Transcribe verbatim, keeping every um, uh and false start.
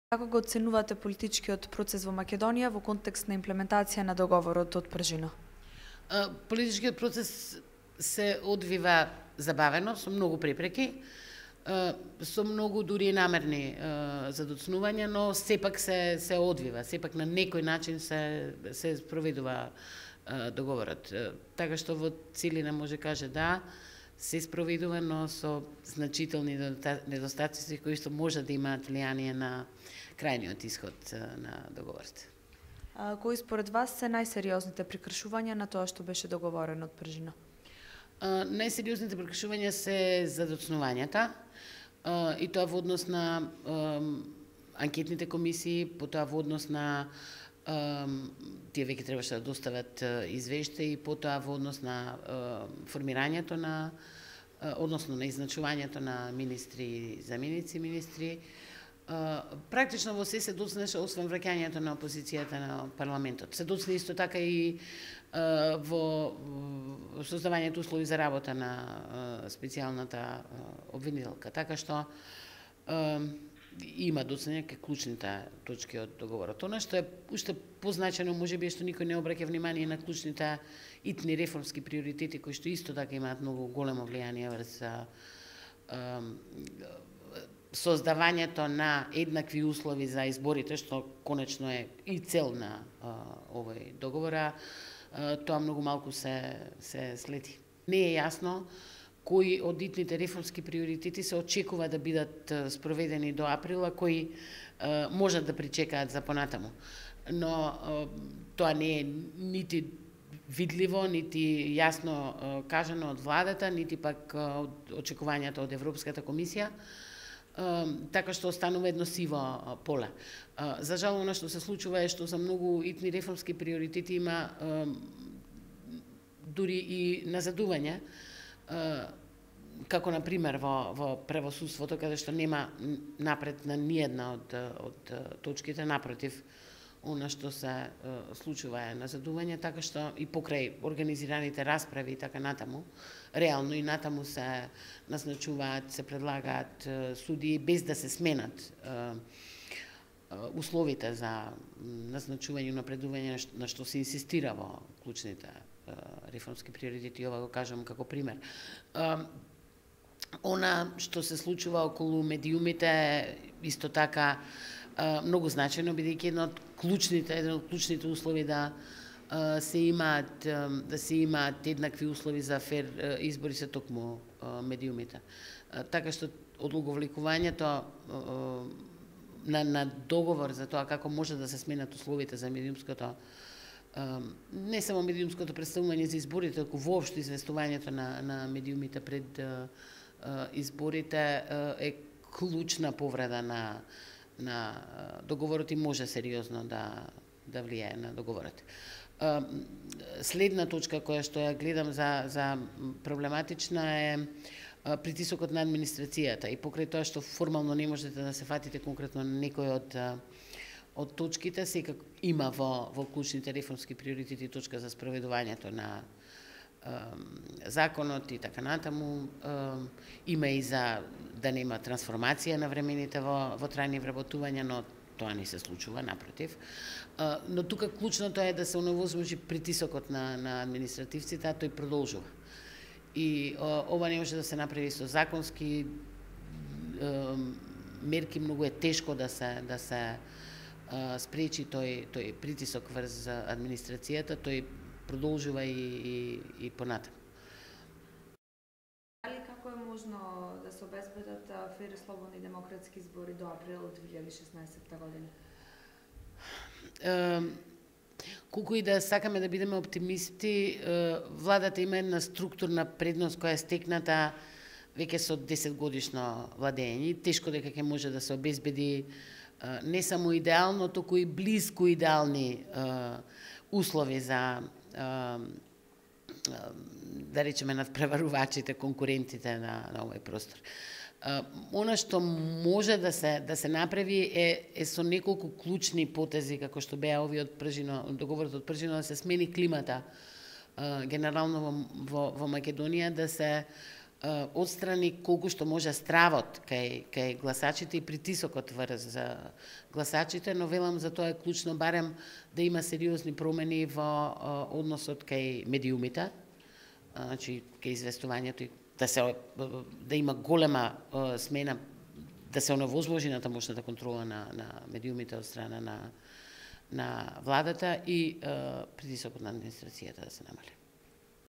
Како го оценувате политичкиот процес во Македонија во контекст на имплементација на договорот од Пржино? Политичкиот процес се одвива забавено, со многу препреки, со многу дури и намерни задоцнувања, но сепак се се одвива, сепак на некој начин се се спроведува договорот. Така што во целина може каже да, се спроведува, но со значителни недостатоци кои што може да имаат влијание на крајниот исход на договорот. А, кои според вас се најсериозните прекршувања на тоа што беше договорено од Пржино? Најсериозните прекршувања се задоцнувањата, и тоа во однос на анкетните комисии, потоа во однос на тие веќе требаше да достават извештаи, потоа во однос на формирањето на, односно на изначувањето на министри и заменици министри. Практично во се се доцнеше, освен враќањето на опозицијата на парламентот. Се доцне исто така и во создавањето услови за работа на специјалната обвинителка. Така што има доцнење кај клучните точки од договорот. Она што е уште позначено, можеби што никој не обраќа внимание на клучните итни реформски приоритети кои што исто така имаат многу големо влијание врз создавањето на еднакви услови за изборите, што конечно е и цел на овој договор, тоа многу малку се се следи. Не е јасно кои од итните реформски приоритети се очекува да бидат спроведени до април, а кои можат да причекаат за понатаму. Но тоа не е нити видливо, нити јасно кажано од владата, нити пак од очекувањата од Европската комисија, така што останува едно сиво поле. За жал, она што се случува е што за многу итни реформски приоритети има дури и назадување, како на пример во во правосудството, каде што нема напред на ниедна од од точките, напротив, она што се случува е назадување, така што и покрај организираните расправи и така натаму, реално и натаму се назначуваат, се предлагаат судии без да се сменат условите за назначување и напредување на што се инсистира во клучните реформски приоритети, ова го кажам како пример. Она што се случува околу медиумите исто така многу значајно, бидејќи едно од клучните, еден од клучните услови да се имаат да се имаат еднакви услови за фер избори се токму медиумите. Така што одлаговлекувањето на на договор за тоа како може да се сменат условите за медиумското, не само медиумското представување за изборите, туку воопшто известувањето на на медиумите пред изборите е клучна повреда на на договорот и може сериозно да да влијае на договорот. Следна точка која што ја гледам за за проблематична е притисокот на администрацијата, и покрај тоа што формално не можете да се фатите конкретно на некој од од точките, секако има во во клучните реформски приоритети точка за спроведувањето на законот и така натаму. Има и за да нема трансформација на времените во во трајни вработувања, но тоа не се случува, напротив. Но тука клучното е да се оневозможи притисокот на на административците, а тој продолжува. И ова не може да се направи со законски мерки, многу е тешко да се да се спречи тој тој притисок врз администрацијата, тој продолжува и и и понатаму. Дали како е можно да се обезбедат фер, слободни демократски избори до април две илјади и шеснаесетта година? Колку и да сакаме да бидеме оптимисти, владата има една структурна предност која е стекната веќе со десет годишно владење. Тешко дека ќе може да се обезбеди не само идеално, туку и близко идеални услови за да речеме надпреварувачите, конкурентите на на овој простор. Она што може да се да се направи е е со неколку клучни потези, како што беа овие од Пржино, договорот од Пржино, да се смени климата генерално во во, во Македонија, да се отстрани колку што може стравот кај кај гласачите и притисокот врз за гласачите, но велам за тоа е клучно барем да има сериозни промени во односот кај медиумите, значи кај известувањето и да се да има голема смена, да се оневозможи на тамошната контрола на на медиумите од страна на на владата и притисокот на администрацијата да се намали.